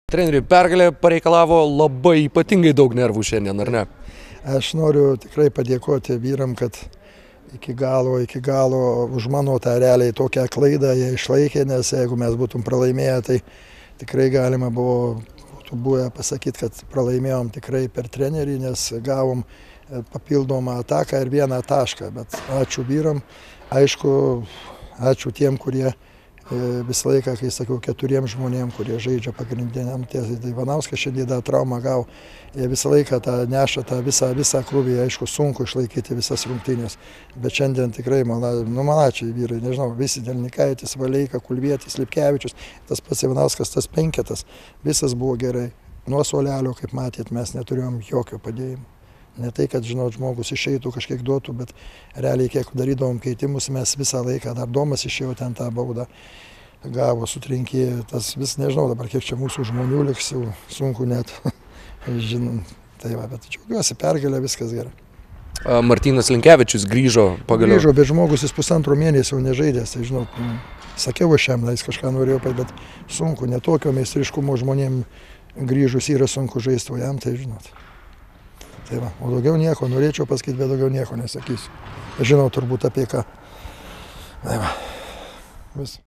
Treneri, pergalė pareikalavo labai ypatingai daug nervų šiandien, ar ne? Aš noriu tikrai padėkoti vyram, kad iki galo už mano tą realiai tokią klaidą jie išlaikė, nes jeigu mes būtum pralaimėję, tai tikrai galima būtų buvę pasakyti, kad pralaimėjom tikrai per trenerį, nes gavom papildomą ataką ir vieną tašką. Bet ačiū vyram, aišku, ačiū tiem, kurie visą laiką, kai sakiau, 4 žmonėm, kurie žaidžia pagrindiniam, tai Ivanauskas šiandien tą traumą gavo, jie visą laiką tą neša, tą visą krūvį, aišku, sunku išlaikyti visas rungtynės, bet šiandien tikrai, malačiai vyrai, nežinau, visi Delnikaitis, Valeika, Kulvietis, Lipkevičius, tas pats Ivanauskas, tas penketas, visas buvo gerai. Nuo suolelio, kaip matėt, mes neturėjom jokio padėjimo. Ne tai, kad, žinot, žmogus išeitų, kažkiek duotų, bet realiai, kiek darydavom keitimus, mes visą laiką, dar Domas išėjo ten tą baudą, gavo, sutrinkė, tas vis, nežinau dabar, kiek čia mūsų žmonių liks, jau sunku net, žinom, tai va, bet džiaugiuosi, pergalė, viskas gerai. Martynas Linkevičius grįžo pagaliau. Grįžo, bet žmogus jis pusantro mėnesio jau nežaidęs, tai žinot, sakiau aš jam, jis kažką norėjo, bet sunku, netokio meistriškumo žmonėm grįžus yra sunku žaisti, o jam tai žinot. Tai va, o daugiau nieko, norėčiau pasakyti, bet daugiau nieko nesakysiu. Aš žinau turbūt apie ką. Tai va, vis.